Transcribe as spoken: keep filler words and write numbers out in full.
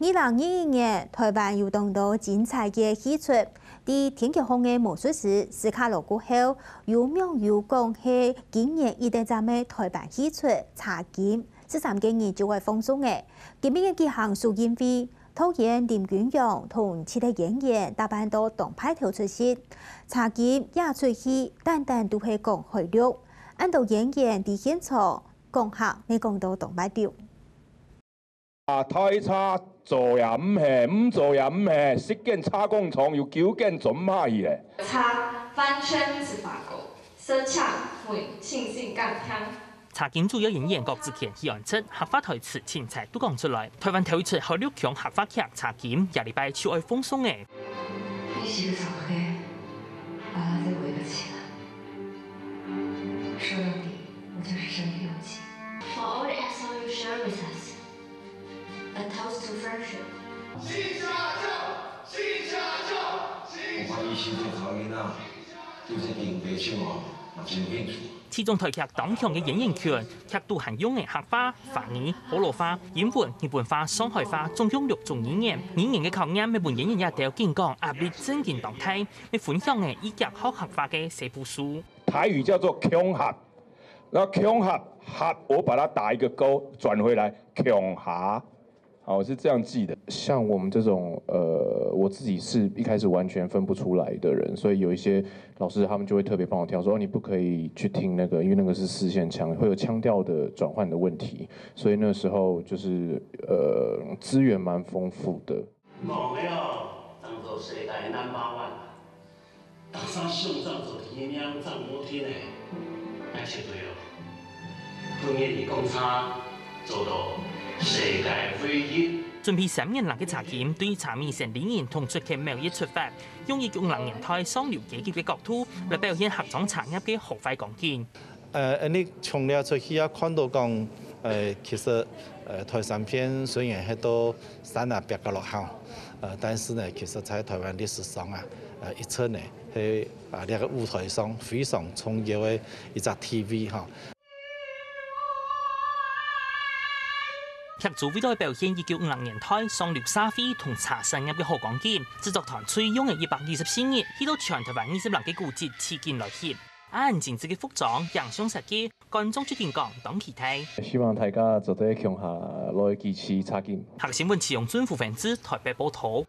二零二一年，臺灣有當多精彩个戲齣。在天橋項个魔術師斯卡羅過後，有網友講係今年一等站个臺灣戲齣《茶金》，十三个人就會放送了。今晡日舉行首映會，導演林君陽同其他演員打扮到當派頭出席。《茶金》這齣戲，單單都係講海陸，恁多演員在現場講客，乜講到當賣力。 啊，大車做也毋係，毋做也毋係，十間車工廠有九間做毋下去咧。車完全毋使罷工，車廠會清新乾淨。茶金主要演員郭子乾、許安植，客話台詞清彩都講出來。臺灣頭一齣海陸腔客話劇《茶金》，這禮拜就愛放送了。你是个啥个？把它再圍个起来。说到底，我就是身不由己。For all the S O you share with us. A toast to friendship. 我懷疑身體頭暈啊，對這爿白手哦，嘛真興趣。其中台劇當強个演員群，劇肚還用个客話、華語、河洛話、英文、日本話、上海話，總共六種語言。語言个考驗，乜分演員這兜緊講壓力真經當大。乜分享个以劇學客話个細步數。台語叫做共下，那共下，下，我把它打一個勾，轉回來，共下。 好，我是這樣記的。像我們這種，呃，我自己是一開始完全分不出來的人，所以有一些老師他們就會特別幫我挑，說：“哦，你不可以去聽那個，因為那個是四縣腔，會有腔調的轉換的問題。”所以那時候就是，呃，資源蠻豐富的。講个哦，當做世界number one。 逐儕想怎做第一名，怎無停个，愛絕對哦。分人講差，做到世界唯一。準備三年零个茶金，對茶味仙李仁同出劇某一出發，用一九五零年代上流階級个角度來表現客庄茶業个好壞光景。 呃，恁呢從這齣戲啊，看到講，呃，其實，呃，台三篇雖然係到山啊壁角落吼，呃，但是呢，其實在台灣歷史上啊，呃，一直呢，係啊，這個舞台上非常重要个一隻地位吼。劇組為了表現一九五零年代上流社會同茶產業个好光景，製作團隊用了一百二十四日，去到全台灣二十零个古蹟取景來翕。恁精緻个服裝、影像設計， 觀眾就緊講當期待。希望大家做得共下來支持茶金。客家新聞，徐永俊、胡文志，台北報導。